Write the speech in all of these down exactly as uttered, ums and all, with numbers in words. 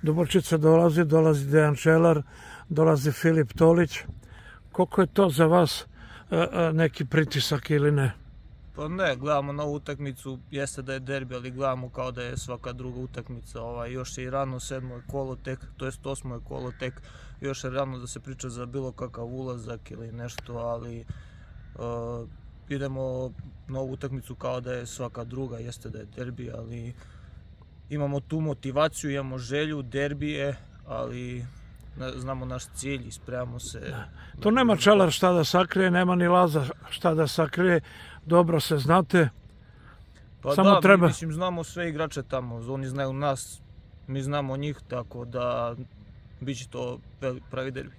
Dubrovčica dolazi, dolazi Dejan Čelar, dolazi Filip Tolić. Koliko je to za vas neki pritisak ili ne? Pa ne, gledamo na ovu utakmicu, jeste da je derbi, ali gledamo kao da je svaka druga utakmica. Još je i rano, sedmo je kolo tek, to jest osmo je kolo tek, još je rano da se priča za bilo kakav ulazak ili nešto, ali idemo na ovu utakmicu kao da je svaka druga, jeste da je derbi, ali imamo tu motivaciju, imamo želju, derbi je, ali znamo naš cilj i spremamo se. To nema Čelar šta da sakrije, nema ni Laza šta da sakrije, dobro se znate. Pa da, mi mislim znamo sve igrače tamo, oni znaju nas, mi znamo njih, tako da bit će to pravi derbi.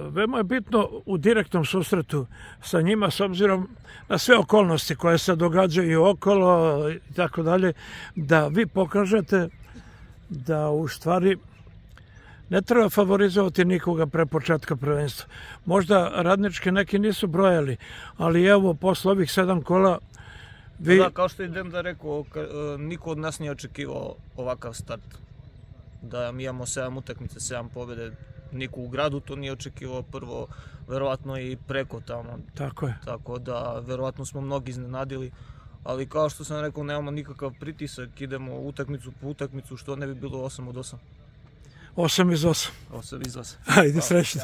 Veoma je bitno u direktnom susretu sa njima, s obzirom na sve okolnosti koje se događaju okolo i tako dalje, da vi pokažete da u stvari ne treba favorizovati nikoga pre početka prvenstva. Možda Radnički neki nisu brojali, ali evo, posle ovih sedam kola vi... Da, kao što je Denda rekao, niko od nas nije očekivao ovakav start. Da mi imamo sedam utakmice, sedam pobjede, niko u gradu to nije očekivao prvo, verovatno i preko tamo. Tako je. Tako da, verovatno smo mnogi iznenadili, ali kao što sam rekao, nemamo nikakav pritisak, idemo utakmicu po utakmicu, što ne bi bilo osam od osam. osam iz osam. osam iz osam. Ajde, srećno.